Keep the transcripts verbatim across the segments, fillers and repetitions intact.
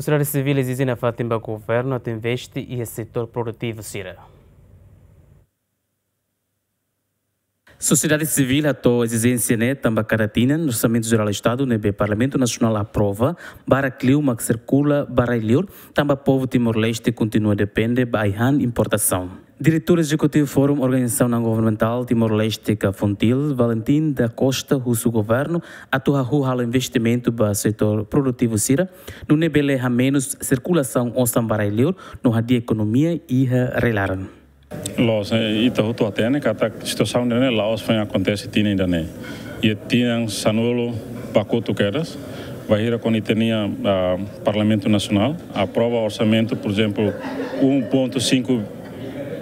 Sosiedade sivíl ezije nafatin ba governu atu investe iha setór produtivu sira. Sosiedade sivíl hato'o ezijénsia ne'e tanba kada tinan Orsamentu Jerál Estadu ne'ebé Parlamentu Nasionál aprova barak liu mak sirkula ba rai-liur, tanba povu Timor-Leste kontinua depende ba ai-han importasaun. Diretór Ezekutivu Fórum Organizasaun Não Governamentál Timor-Leste ka FONGTIL, Valentim da Costa, husu governu atu hahú halo investimentu ba setór produtivu sira, nune'e bele hamenus sirkulasaun osan ba rai-liur no hadi'a ekonomia iha rai-laran. Loos, eh, ita hotu hatene katak situasaun ida-ne'e la'ós foin akontese tinan ida-ne'e. Iha tinan sanulu ba kotuk kedas, bainhira kuandu ita-nia, ah, Parlamentu Nasionál aprova orsamentu, por ezemplu, um ponto cinco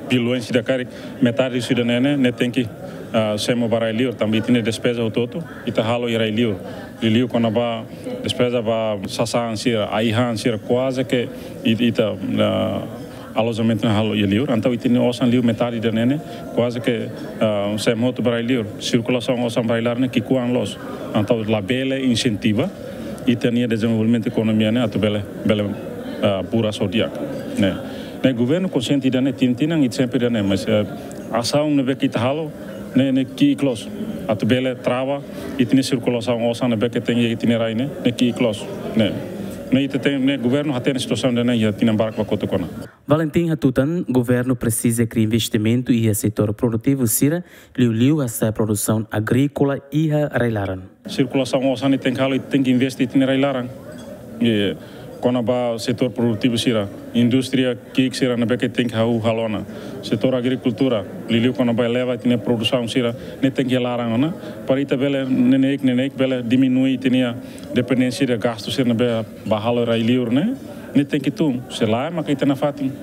bilhões ida karik, metade husi ida-ne'e ne'e, ne'e tenke, ah, semo ba rai-liur, tanba ita-nia despeza hotu-hotu ita halo iha rai-liur. Liuliu kona-ba despeza ba sasán sira, ai-han sira, kuaze ke it-, ita, ah, alojamentu ne'e halo iha liur. Entaun ita-nia osan liu metade ida-ne'e ne'e, kuaze ke, ah, semo hotu ba rai-liur. Sirkulasaun osan ba rai-laran ne'e ki'ikoan loos. Entaun labele insentiva ita-nia dezenvolvimentu ekonomia ne'e atu bele, bele, ah, buras ho di'ak. Ne'e. Ne'e governu konxiente ida-ne'e, tinan-tinan ita sempre ida-ne'e, mas, eh, asaun ne'ebé ke ita halo ne'e, ne'e ki'ik loos. Atu bele trava ita-nia sirkulasaun osan ne'ebé ke tenke iha ita-nia rai ne'e, ne'e ki'ik loos. Ne'e. Ne'e ita ten, ne'e governu hatene situasaun ida-ne'e iha tinan barak ba kotuk ona. Valentim hatutan, governu presiza kria investimentu iha setór produtivu sira, liuliu hasa'e produsaun agríkola iha rai-laran. Sirkulasaun osan ne'e tenke halo, tenke investe ita-nia rai-laran. I kona-ba setór produtivu sira, indústria ki'ik sira ne'ebé ke tenke hahú halo ona. Setór agrikultura, liuliu kona-ba eleva ita-nia produsaun sira, ne'e tenke iha laran ona. Para ita bele neineik, neineik bele diminui ita-nia dependénsia de gastu sira ne'ebé ba halo rai-liur ne'e, ne'e tenke tun. Se lae maka ita nafatin.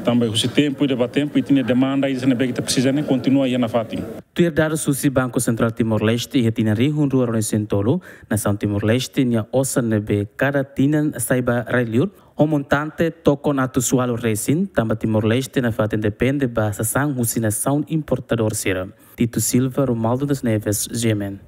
Tanba husi tempu ida ba tempu, ita-nia demanda ida ne'ebé ke ita presiza ne'e kontinua iha nafatin. Tuir dadus husi Banku Sentrál Timor-Leste, iha tinan rihun rua ruanulu-resin-tolu, nasaun Timor-Leste nia osan ne'ebé kada tinan sai ba rai-liur, ho montante tokon atus ualu resin, tanba Timor-Leste nafatin depende ba sasán husi nasaun importadór sira. Tito Silva, Romualdo das Neves, G M N.